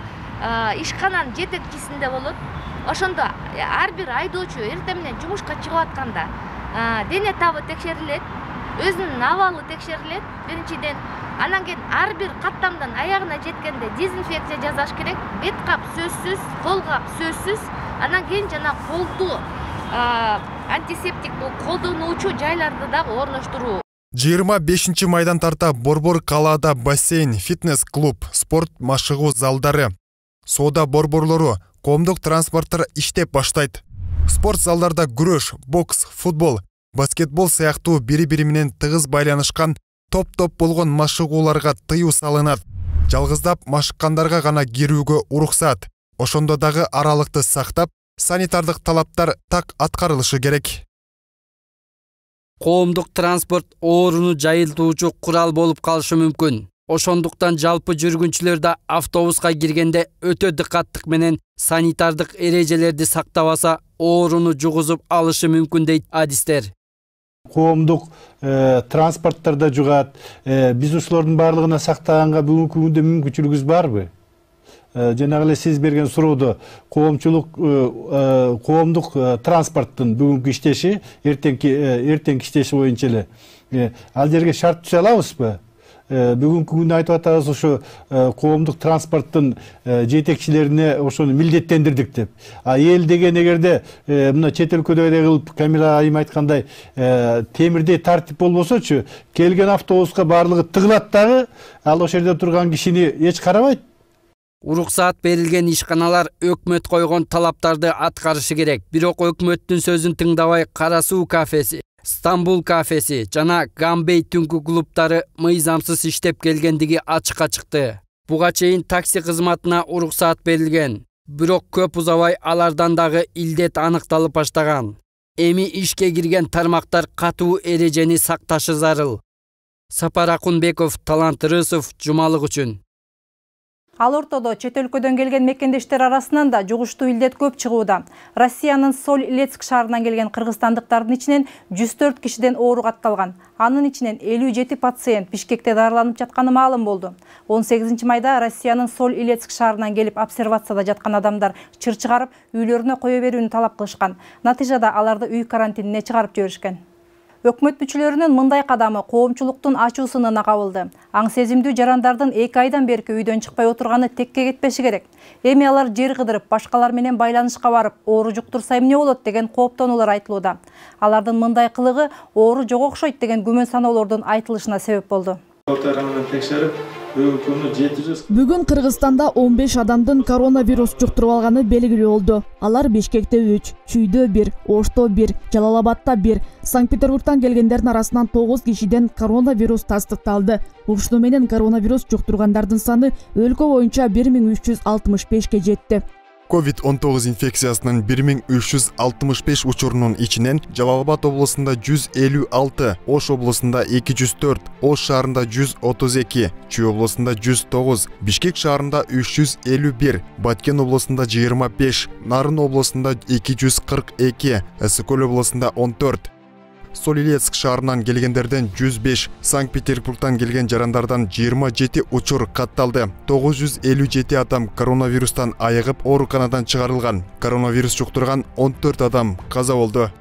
ишкананын жетекчисинде болот. Ошондо ар бир айдоочу эртең менен жумушка чыгып атканда дене табы текшерилет, өзүнүн абалы текшерилет биринчиден. Анан кийин ар бир каттамдан аягына жеткенде дезинфекция жасаш керек. Бет кап сөзсүз, кол кап сөзсүз. Анан кийин жана колду антисептик колдонуучу жайларды дагы орноштуруу. 25 майдан тарта борбор калаада бассейн, фитнес-клуб, спорт машыгуу залдары, соода борборлору, коомдук транспорттор иштеп баштайт. Спорт залдарда күрөш, бокс, футбол, баскетбол сыяктуу бири-бири менен тыгыз байланышкан топ-топ болгон машыгууларга тыюу салынат. Жалгыздап машыккандарга гана кирүүгө уруксат. Ошондо дагы аралыкты сактап, санитардык талаптар так аткарылышы керек. Коомдук транспорт ооруну жайылтуучу курал болуп калышы мүмкүн. Ошондуктан жалпы жүргүнчүлөр да автобуска киргенде өтө дыкаттык менен санитардык эрежелерди сактабаса, ооруну жугузуп алышы мүмкүн дейт адистер. Коомдук транспорттордо жугат. Биз ушулардын баардыгына сактаганга бүгүнкү күндө мүмкүнчүлүгүбүз барбы? Жанагы эле сиз берген суроодо коомдук транспорттун бүгүнкү иштеши, эртеңки иштеши боюнча эле ал жерге шарт түзө алабызбы? Бүгүнкү күндө айтып атабыз ошо коомдук транспорттун жетекчилерине ошону милдеттендирдик деп. Эл деген эгерде мына чет өлкөдөгүдөй кылып Камила айым айткандай темирдей тартип болбосочу, келген автобуска баардыгы тыгылат дагы, ал ошол жерде турган кишини эч карабайт. Уруксаат берилген ишканалар өкмөт койгон талаптарды аткарышы керек. Бирок өкмөттүн сөзүн тыңдабай Кара суу кафеси, Стамбул кафеси жана Гамбей түнкү клубтары мыйзамсыз иштеп келгендиги ачыкка чыкты. Буга чейин такси кызматына уруксаат берилген. Бирок көп узабай алардан дагы илдет аныкталып баштаган. Эми ишке кирген тармактар катуу эрежени сакташы зарыл. Сапар Акунбеков, Талант Рысов, Жумалык үчүн. Ал ортодо чет өлкөдөн келген мекендештер арасынан да жугуштуу илдет көп чыгууда. Россиянын Соль-Илецк шаарынан келген кыргызстандыктардын ичинен 104 кишиден оору катталган. Анын ичинен 57 пациент Бишкекте дарыланып жатканы маалым болду. 18 майда Россиянын Соль-Илецк шаарынан келип обсервацияда жаткан адамдар чыр чыгарып, үйлөрүнө кое берүүнү талап кылышкан. Натыйжада аларды үй карантинине чыгарып жиберишкен. Өкмөт мүчөлөрүнүн мындай кадамы коомчулуктун ачуусуна кабылды. Аң сезимдүү жарандардын 2 айдан берки үйдөн чыкпай отурганы текке кетпеши керек. Эми алар жер кыдырып, башкалар менен байланышка барып, оору жуктурса эмне болот деген кооптонуулар айтылууда. Алардын мындай кылыгы оору жок окшойт деген күмөн саноолордун айтылышына себеп болду. Менен текшерип, Бүгүн Кыргызстанда 15 адамдын коронавирус жуктуруп алганы белгилүү болду. Алар Бишкекте 3, Чүйдө 1, Ошто 1, Жалал-Абадта 1, Санкт-Петербургтан келгендердин арасынан 9 кишиден коронавирус тастыкталды. Ушуну менен коронавирус жуктургандардын саны өлкө боюнча 1365 жетти. COVID-19 инфекциясынын 1365 учурунун ичинен Жалал-Абад облусунда 156, Ош облусунда 204, Ош шаарында 132, Чүй облусунда 109, Бишкек шаарында 351, Баткен облусунда 25, Нарын облусунда 242, Ысык-Көл облусунда 14, Солилецк шаарынан келгендерден 105, Санкт-Петербургтан келген жарандардан 27 учур катталды. 957 адам коронавирустан айыгып ооруканадан чыгарылган. Коронавирус жуктурган 14 адам каза болду.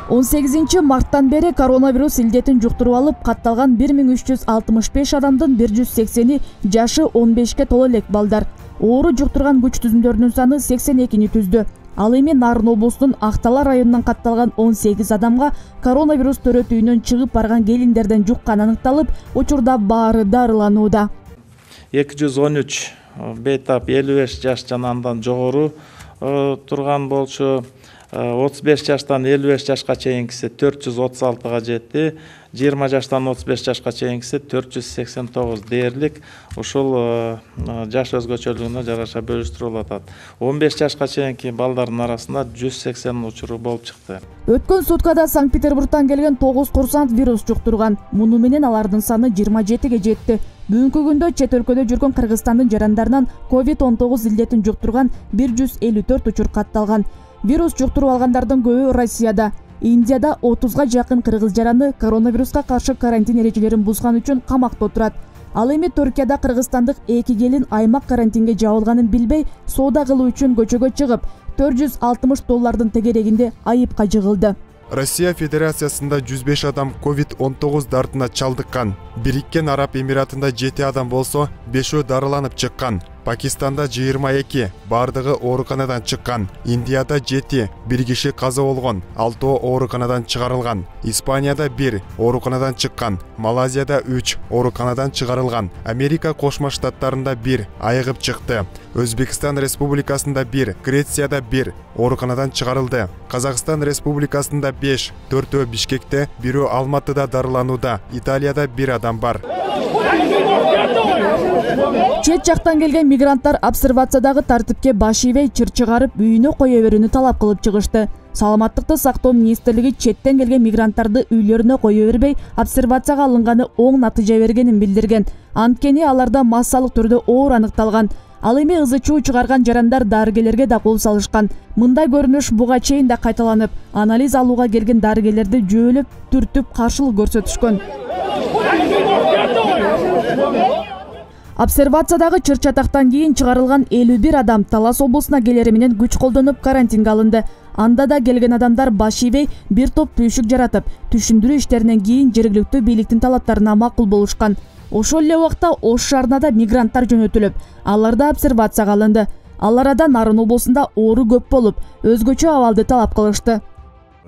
18 марттан бери коронавирус илдетин жуктуруп алып, катталган 1365 адамдын 180-и жашы 15ке толо элек балдар. Оору жуктурган күч түзүмдөрүнүн саны 82-ни түздү. Ал эми Нарын облусунун Актала районунан катталган 18 адамга коронавирус төрөтүүнөн чыгып барган келиндерден жукканы аныкталып, учурда баары дарыланууда. 213 бейтап 55 жаш жана андан жогору турган болчу. 35 жаштан 55 жашка чейинкиси 436-га жетти. 20 жаштан 35 жашка чейинкиси 489 дээрлик. Ушул жаш өзгөчөлүгүнө жараша бөлүштүрүлүп атат. 15 жашка чейинки балдардын арасында 180 учуру болуп чыкты. Өткөн суткада Санкт-Петербургтан келген 9 курсант вирус жуктурган. Муну менен алардын саны 27ге жетти. Бүгүнкү күндө чет өлкөдө жүргөн Кыргызстандын жарандарынан COVID-19 илдетин жуктурган 154 учур катталган. Вирус жуктуруп алгандардын көбү Россияда. Индияда 30га жакын кыргыз жараны коронавируска каршы карантин эрежелерин бузган үчүн камакта отурат. Ал эми Түркияда кыргызстандык 2 келин аймак карантинге жабылганын билбей, соода кылуу үчүн көчөгө чыгып, $460 тегерегинде айыпка жыгылды. Россия Федерациясында 105 адам COVID-19 дартына чалдыккан. Бириккен Араб Эмиратында 7 адам болсо, 5-өө дарыланып чыккан. Пакистанда 22, бардыгы ооруканадан чыккан. Индияда 7, 1 киши каза болгон, 6 ооруканадан чыгарылган. Испанияда 1, ооруканадан чыккан. Малайзияда 3, ооруканадан чыгарылган. Америка Кошмо Штаттарында 1, айыгып чыкты. Өзбекстан Республикасында 1, Грецияда 1, ооруканадан чыгарылды. Казакстан Республикасында 5, 4-өө Бишкекте, 1-өө Алматыда дарыланууда. Италияда 1 адам бар. Чет жактан келген мигранттар обсервациядагы тартипке баш ийбей, чыр чыгарып, үйүнө кое берүүнү талап кылып чыгышты. Саламаттыкты сактоо министрлиги четтен келген мигранттарды үйлөрүнө кое бербей, обсервацияга алынганы оң натыйжа бергенин билдирген. Анткени аларда массалык түрдө оор аныкталган. Ал эми ызы чуу чыгарган жарандар дарыгерлерге да кол салышкан. Мындай көрүнүш буга чейин да кайталанып, анализ алууга келген дарыгерлерди жөөлөп, түртүп каршылык көрсөтүшкөн. Обсервациядагы чыр-чатактан кийин чыгарылган 51 адам Талас облусуна келери менен күч колдонуп карантинге алынды. Анда да келген адамдар баш ийбей, бир топ түйшүк жаратып, түшүндүрүү иштеринен кийин жергиликтүү бийликтин талаптарына макул болушкан. Ошол эле убакта Ош шаарына да мигранттар жөнөтүлүп, алар да обсервацияга алынды. Ал арада Нарын облусунда оору көп болуп, өзгөчө абалды талап кылышты.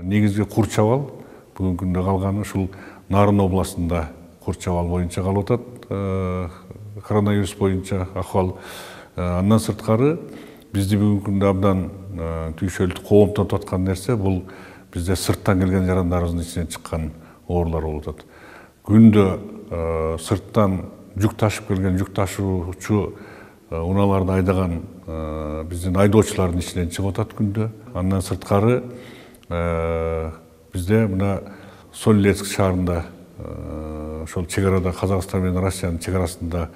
Негизги курч абал бүгүнкү күндө калганы ушул Нарын областында курч абал боюнча калып атат. Коронавирус боюнча акыбал. Андан сырткары бизди бүгүнкү күндө абдан түйшөлтүп коомдотуп аткан нерсе бул бизде сырттан келген жарандарыбыздын ичинен чыккан оорулар болуп атат. Күндө сырттан жүк ташып келген жүк ташуучу унааларды айдаган биздин айдоочулардын ичинен чыгып атат күндө. Андан сырткары бизде мына Солилецк шаарында ошол чек арада Казакстан менен Россиянын чек арасында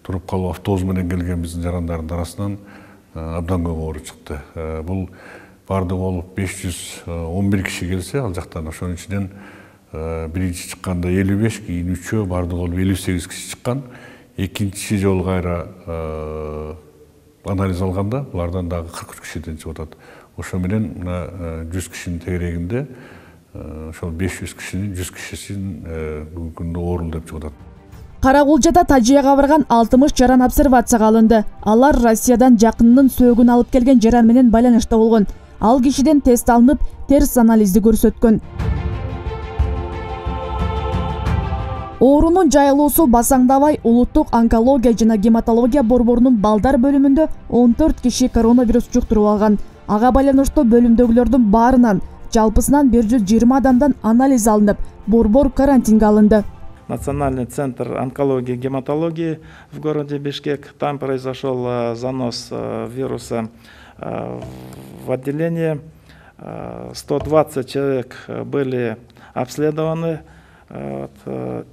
туруп калып автобус менен келген биздин жарандардын арасынан абдан көп оору чыкты. Бул бардыгы болуп 511 киши келсе, ал жактан ошонун ичинен биринчи чыкканда 55, кийин 3-өө бардыгы болуп 58 киши чыккан. Экинчи жолу кайра анализ алганда булардан дагы 43 кишиден чыгып атат. Ошо менен мына 100 кишинин тегерегинде ошол 500 кишинин 100 кишисин бүгүнкү күндө оорул деп чыгып атат. Карагулжада Тажияга барган 60 жаран обсервацияга алынды. Алар Россиядан жакынынын сөөгүн алып келген жаран менен байланышта болгон. Ал кишиден тест алынып, терс анализди көрсөткөн. Оорунун жайылуусу басаңдабай улуттук онкология жана гематология борборунун балдар бөлүмүндө 14 киши коронавирус жуктуруп алган. Ага байланыштуу бөлүмдөгүлөрдүн баарынан жалпысынан 120 адамдан анализ алынып, борбор карантинге алынды. Национальный центр онкологии и гематологии в городе Бишкек. Там произошел занос вируса в отделение. 120 человек были обследованы.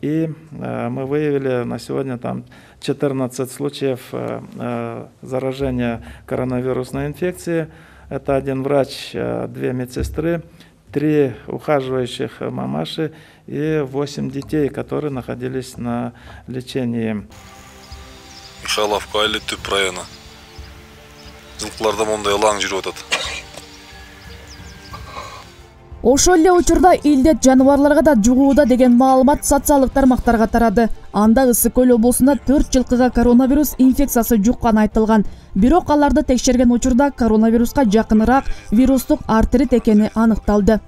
И мы выявили на сегодня там 14 случаев заражения коронавирусной инфекцией. Это один врач, 2 медсестры, 3 ухаживающих мамаши и 8 детей, которые находились на лечении. Михайловка айылы Түп району. Жылкыларда мондай лаң жүрүп атат. Ошол эле учурда илдет жаныбарларга да жугууда деген маалымат социалдык тармактарга тарады. Анда Ысык Көл облусунда 4 жылкыга коронавирус инфекциясы жукканы айтылган. Бирок аларды текшерген учурда коронавируска жакыныраак вирустук артрит экени аныкталды.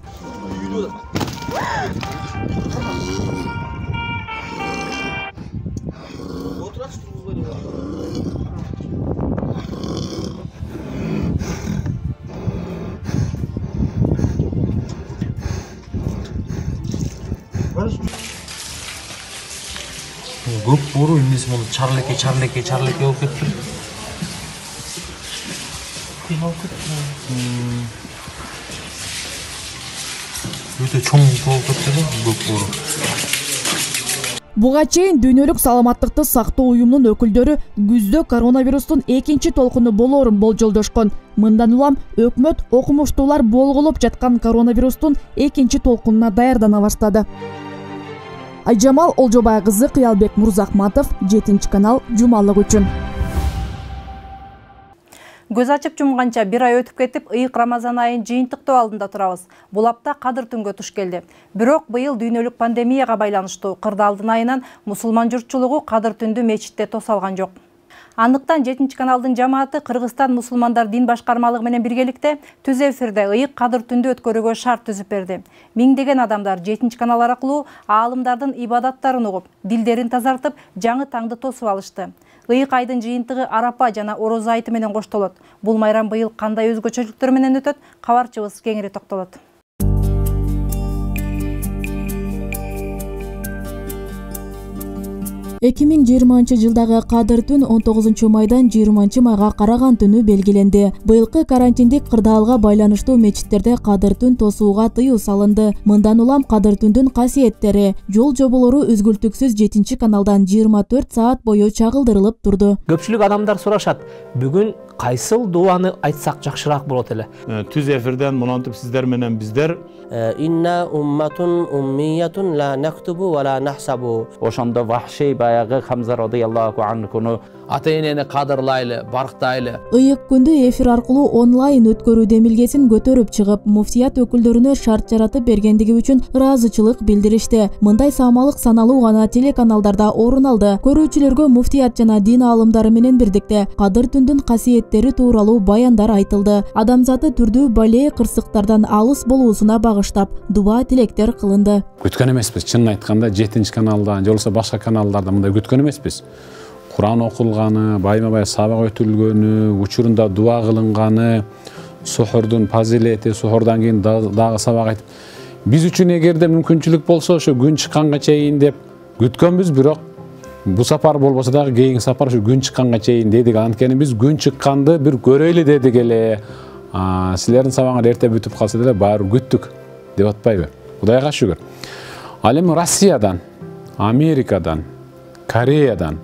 Көп бору эмнеси муну чарлеке болуп кетти. Өтө чоң болуп кетти көп бору. Буга чейин Дүйнөлүк саламаттыкты сактоо уюмунун өкүлдөрү күздө коронавирустун экинчи толкуну болоорун болжолдошкон. Мындан улам өкмөт окумуштуулар болгулуп жаткан коронавирустун экинчи толкунуна даярдана баштады. Айжамал Олжобай кызы, Кыялбек Мурзахматов, 7 канал, жумалык үчүн. Көз ачып жумганча 1 ай өтүп кетип, ыйык Рамазан айын жыйынтыктоо алдында турабыз. Бул апта Кадыр түнгө туш келди. Бирок быйыл дүйнөлүк пандемияга байланыштуу кырдаалдын айынан мусулман журтчулугу Кадыр түндү мечитте тосалган жок. Андыктан 7 каналдын жамааты Кыргызстан мусулмандар дин башкармалыгы менен биргеликте түз эфирде ыйык Кадыр түндү өткөрүүгө шарт түзүп берди. Миңдеген адамдар 7 канал аркылуу аалымдардын ибадаттарын угуп, дилдерин тазартып, жаңы таңды тосуп алышты. Ыйык айдын жыйынтыгы Арапа жана Ороз айты менен коштолот. Бул майрам быйыл кандай өзгөчөлүктөр менен өтөт? Кабарчыбыз кеңири токтолот. 2020 жылдагы Кадыр түн 19 майдан 20 майга караган түнү белгиленди. Быйылкы карантиндик кырдаалга байланыштуу мечиттерде Кадыр түн тосууга тыюу салынды. Мындан улам Кадыр түндүн касиеттери, жол жоболору үзгүлтүксүз 7 каналдан 24 саат бою чагылдырылып турду. Көпчүлүк адамдар сурашат, бүгүн кайсыл дуаны айтсак жакшыраак болот эле? Түз эфирден монантип сиздер менен биздер инна умматун уммиятун ла нактубу ва ла нахсабу. Ошондо вахший баягы Хамза радыйаллаху анхуну ата-энени кадырлайлы, барктайлы. Ыйык күндү эфир аркылуу онлайн өткөрүү демилгесин көтөрүп чыгып, муфтият өкүлдөрүнө шарт жаратып бергендиги үчүн ыраазычылык билдиришти. Мындай саамалык саналуу гана телеканалдарда орун алды. Көрүүчүлөргө муфтият жана дин аалымдары менен бирдикте Кадыр түндүн касиеттери тууралуу баяндар айтылды. Адамзаты түрдүү бале кырсыктардан алыс болуусуна багыштап, дуба тилектер кылынды. Күткөн эмеспиз, чынын айтканда 7 каналдан, же болбосо башка каналдарда мындай күткөн эмеспиз. Куран окулганы, байма-бай сабак өтүлгөнү, учурунда дуа кылынганы, сухурдун фазилети, сухурдан кийин дагы сабак айтып. Биз үчүн эгерде мүмкүнчүлүк болсо, ошо күн чыкканга чейин деп күткөнбүз, бирок бу сапар болбосо дагы кийинки сапар ушу күн чыкканга чейин дедик. Анткени биз күн чыкканды бир көрөйлү дедик эле. Силердин сабагыңар эрте бүтүп калса деле баары күттүк деп атпайбы? Кудайга шүгүр. Ал эми Россиядан, Америкадан, Кореядан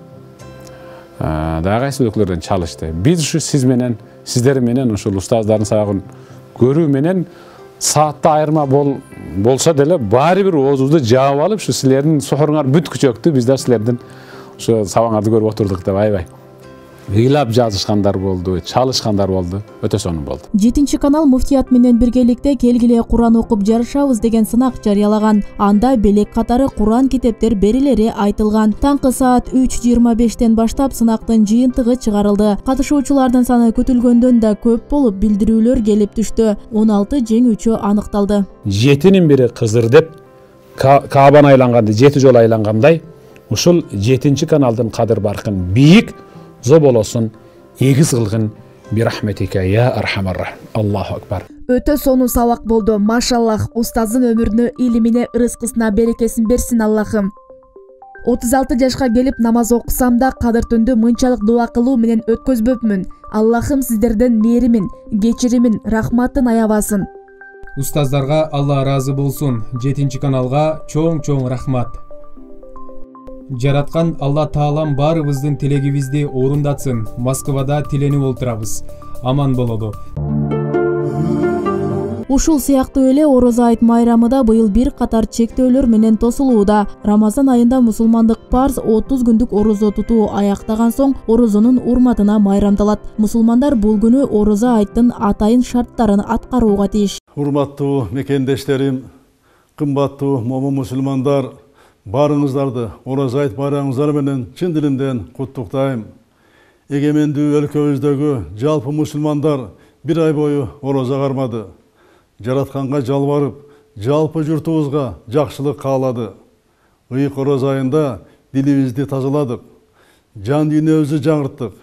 дагы кайсы өлкөлөрдөн чалышты. Биз ушу сиздер менен ушул устаздардын сабагын көрүү менен саатта айырма болсо деле баары бир оозубузду жаап алып, ушу силердин сухуруңар бүткүчөктү, биздер силердин ушу сабагыңарды көрүп отурдук деп аябай ыйлап жазышкандар болду, чалышкандар болду, өтө сонун болду. 7 канал муфтият менен биргеликте келгиле Куран окуп жарышабыз деген сынак жарыялаган. Анда белек катары Куран китептер берилери айтылган. Таңкы саат 3:25тен баштап сынактын жыйынтыгы чыгарылды. Катышуучулардын саны күтүлгөндөн да көп болуп, билдирүүлөр келип түштү. 16 жеңүүчү аныкталды. 7-нин бири Кызыр деп Каабаны айланганды 7 жолу айлангандай ушул 7 каналдын кадыр баркын бийик зоболосун эгиз кылгын бирахметике я архамар рахим. Аллаху акбар. Өтө сонун сабак болду. Машаллах, устаздын өмүрүнө, илимине, ырыскысына берекесин берсин Аллахым. 36 жашка келип намаз окусам да кадыр түндү мынчалык дуа кылуу менен өткөзбөпмүн. Аллахым сиздерден мээримин, кечиримин, рахматын аябасын. Устаздарга Алла ыраазы болсун. 7 каналга чоң рахмат. Жараткан Алла Таалам баарыбыздын тилегибизди орундатсын. Москвада тиленип олтурабыз. Аман болоду. Ушул сыяктуу эле Орозо айт майрамы да быйыл бир катар чектөөлөр менен тосулууда. Рамазан айында мусулмандык парз 30 күндүк орозо тутуу аяктаган соң орозонун урматына майрамдалат. Мусулмандар бул күнү Орозо айттын атайын шарттарын аткарууга тийиш. Урматтуу мекендештерим, кымбаттуу момун мусулмандар, баарыңыздарды Орозо айт байрамыңыздар менен чын дилимден куттуктайм. Эгемендүү өлкөбүздөгү жалпы мусулмандар бир ай бою орозо кармады. Жаратканга жалбарып, жалпы журтубузга жакшылык каалады. Ыйык орозо айында дилибизди тазаладык, жан дүйнөбүздү жаңырттык,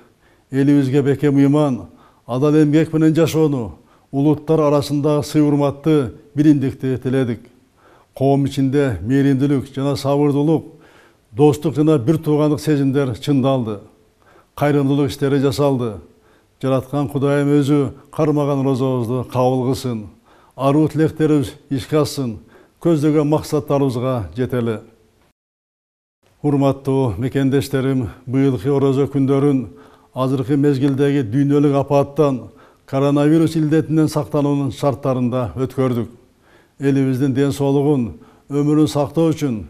элибизге бекем ыйман, адал эмгек менен жашоону, улуттар арасындагы сый-урматты, биримдикти тиледик. Коом ичинде мээримдүүлүк жана сабырдуулук, достук жана бир туугандык сезимдер чындалды. Кайрымдуулук иштери жасалды. Жараткан Кудайым өзү кармаган розобузду кабыл кылсын. Аруу тилектерибиз ишке ашсын, көздөгөн максаттарыбызга жетели. Урматтуу мекендештерим, быйылкы орозо күндөрүн азыркы мезгилдеги дүйнөлүк апаттан, коронавирус илдетинен сактануунун шарттарында өткөрдүк. Элибиздин ден соолугун, өмүрүн сактоо үчүн,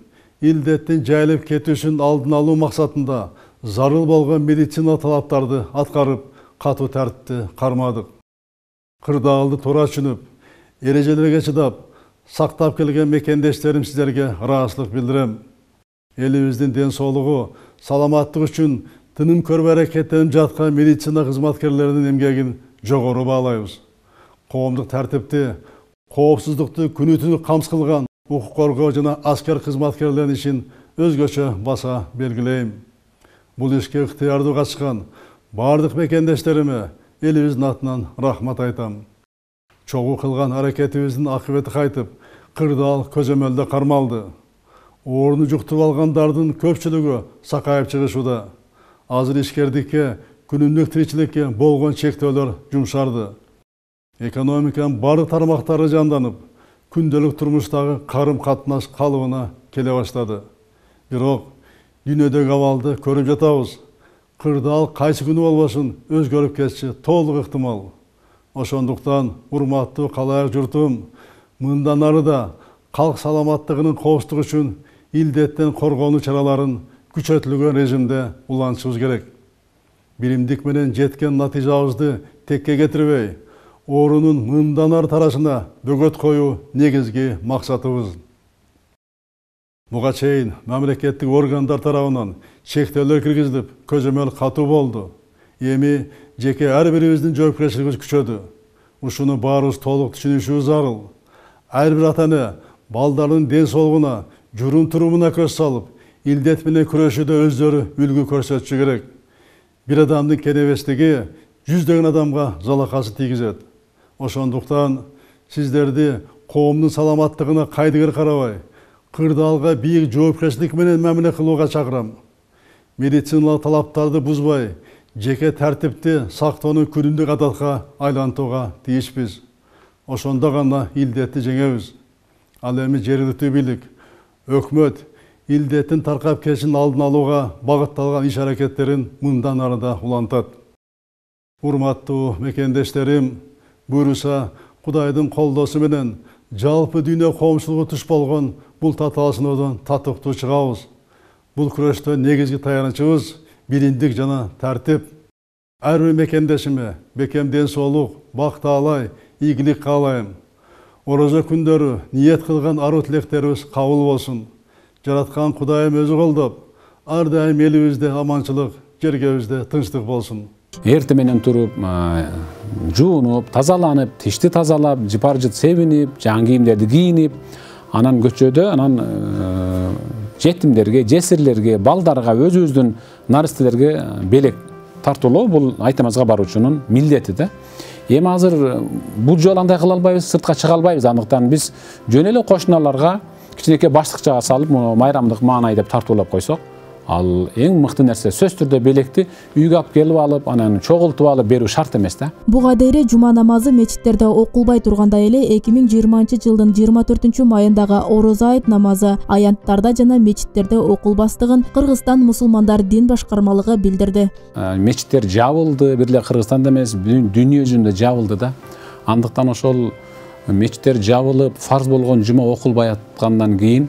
илдеттин жайылып кетүүсүн алдын алуу максатында зарыл болгон медицина талаптарды аткарып, катуу тартипти кармадык. Кырдаалды туура түшүнүп, эрежелерге чыдап, сактап келген мекендештерим сиздерге ыраазычылык билдирем. Элибиздин ден соолугу, саламаттык үчүн тыным көрбөй аракеттенип жаткан медицина кызматкерлеринин эмгегин жогору баалайбыз. Коомдук тартипти, коопсуздукту күнү-түнү камсыз кылган укук коргоо жана аскер кызматкерлеринин ишин өзгөчө баса белгилейм. Бул ишке ыктыярдуу катышкан бардык мекендештериме элибиздин атынан рахмат айтам. Чогуу кылган аракетибиздин акыбети кайтып, кырдаал көзөмөлдө кармалды. Ооруну жуктуруп алгандардын көпчүлүгү сакайып чыгышууда. Азыр ишкердикке, күнүмдүк тиричиликке болгон чектөөлөр жумшарды. Экономиканын бардык тармактары жанданып, күндөлүк турмуштагы карым-катнаш калыбына келе баштады. Бирок дүйнөдөгү абалды көрүп жатабыз. Кырдаал кайсы күнү болбосун өзгөрүп кетиши толук ыктымал. Ошондуктан урматтуу калайык журтум, мындан ары да калк саламаттыгынын коопсуздугу үчүн илдеттен коргонуу чараларын күчөтүлгөн режимде улантышыбыз керек. Биримдик менен жеткен натыйжабызды текке кетирбей, оорунун мындан ары тарашына бөгөт коюу негизги максатыбыз. Буга чейин мамлекеттик органдар тарабынан чектөөлөр киргизилип, көзөмөл катуу болду. Эми жеке ар бирибиздин жоопкерчилигибиз күчөдү. Ушуну баарыбыз толук түшүнүшүбүз зарыл. Ар бир ата-эне балдардын ден соолугуна, журум-турумуна көз салып, илдет менен күрөшүүдө өздөрү үлгү көрсөтүшү керек. Бир адамдын кенебестиги жүздөгөн адамга залакасы тийгизет. Ошондуктан сиздерди коомдун саламаттыгына кайдыгер карабай, кырдаалга бийик жоопкерчилик менен мамиле кылууга чакырам. Медициналык талаптарды бузбай, жеке тартипти сактоону күнүмдүк адатка айлантууга тийишпиз. Ошондо гана илдетти жеңебиз. Ал эми жергиликтүү бийлик, өкмөт илдеттин таркап кетишин алдын алууга багытталган иш-аракеттерин мындан ары да улантат. Урматтуу мекендештерим, буйруса Кудайдын колдоосу менен жалпы дүйнө коомчулугу туш болгон бул татаалашуудон татыктуу чыгабыз. Бул күрөштө негизги таянычыбыз биримдик жана тартип. Ар бир мекендешиме бекем ден соолук, бак таалай, ийгилик каалайм. Орозо күндөрү ниет кылган аруу тилектерибиз кабыл болсун. Жараткан Кудайым өзү колдоп, ар дайым элибизде аманчылык, жергебизде тынчтык болсун. Эрте менен туруп, жуунуп, тазаланып, тишти тазалап, жыпар-жыт себинип, жаңы кийимдерди кийинип, анан көчөдө, анан жетимдерге, жесирлерге, балдарга, өзүбүздүн наристелерге белек тартуулоо бул айтамазга баруучунун милдети да. Эми азыр бул жолу андай кыла албайбыз, сыртка чыга албайбыз. Андыктан биз жөн эле кошуналарга кичинекей баштыкчага салып, майрамдык маанай деп тартуулап койсок, ал эң мыкты нерсе. Сөз түрдө белекти үйгө алып келип алып, анан чогултуп алып берүү шарт эмес да. Буга дейре жума намазы мечиттерде окулбай тургандай эле 2020-жылдын 24-майындагы орозо айт намазы аянттарда жана мечиттерде окулбастыгын Кыргызстан мусулмандар дин башкармалыгы билдирди. Мечиттер жабылды, бир эле Кыргызстанда эмес, дүйнө жүзүндө жабылды да. Андыктан ошол мечиттер жабылып, фарз болгон жума окулбай аткандан кийин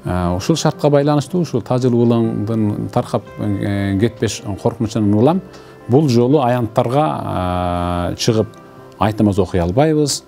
ушул шартка байланыштуу ушул тажыл улаңдын таркап кетпеш коркунучунан улам бул жолу аянттарга чыгып айт намаз окуй албайбыз,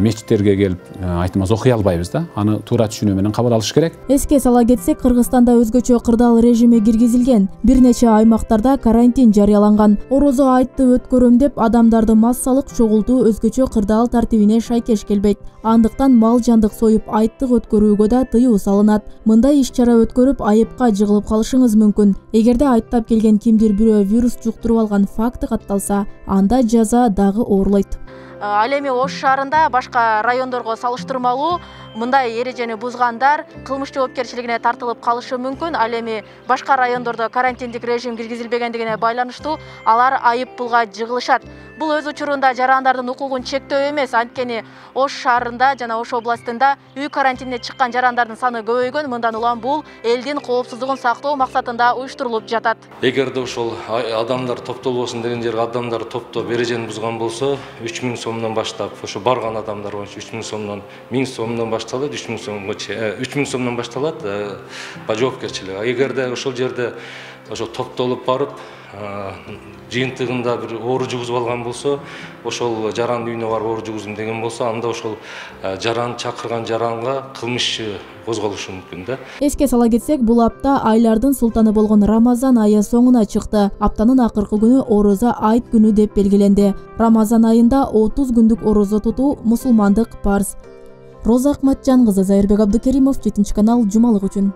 мечиттерге келип айт намаз окуй албайбыз да. Аны туура түшүнүү менен кабыл алыш керек. Эске сала кетсек, Кыргызстанда өзгөчө кырдаал режими киргизилген. Бир нече аймактарда карантин жарыяланган. Орозо айтты өткөрөм деп адамдарды массалык чогултуу өзгөчө кырдаал тартибине шайкеш келбейт. Андыктан мал жандык союп айттык өткөрүүгө да тыюу салынат. Мындай иш-чара өткөрүп айыпка жыгылып калышыңыз мүмкүн. Эгерде айттап келген кимдир бирөө вирус жуктуруп алган факты катталса, анда жаза дагы оорлойт. Ал эми Ош шаарында башка райондорго салыштырмалуу мындай эрежени бузгандар кылмыш жоопкерчилигине тартылып калышы мүмкүн. Ал эми башка райондордо карантиндик режим киргизилбегендигине байланыштуу алар айып пулга жыгылышат. Бул өз учурунда жарандардын укугун чектөө эмес, анткени Ош шаарында жана Ош областында үй карантинине чыккан жарандардын саны көбөйгөн. Мындан улам бул элдин коопсуздугун сактоо максатында уюштурулуп жатат. Эгерде ошол адамдар топтолбосун деген жерге адамдар топтоп эрежени бузган болсо, 3000 сомдон баштап, ошо барган адамдар боюнча 3000 сомдон, 1000 сомдон башталат, 3000 сомдон башталат жоопкерчилик. Эгерде ошол жерде ошо топтолуп барып, жыйынтыгында бир оору жугузуп алган болсо, ошол жарандын үйүнө барып оору жугуздум деген болсо, анда ошол жаран чакырган жаранга кылмыш козголушу мүмкүн да. Эске сала кетсек, бул апта айлардын султаны болгон Рамазан айы соңуна чыкты. Аптанын акыркы күнү орозо айт күнү деп белгиленди. Рамазан айында 30 күндүк орозо тутуу мусулмандык парз. Роза Акматжан кызы, Зайырбек Абдыкеримов, 7 канал, жумалык үчүн.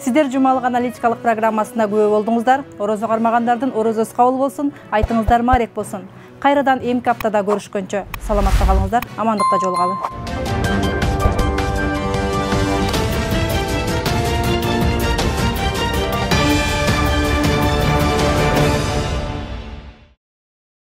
Сиздер жумалык аналитикалык программасына күбө болдуңуздар. Орозо кармагандардын орозосу кабыл болсун, айтыңыздар маарек болсун. Кайрадан эмки аптада көрүшкөнчө саламатта калыңыздар, амандыкта жолугалы.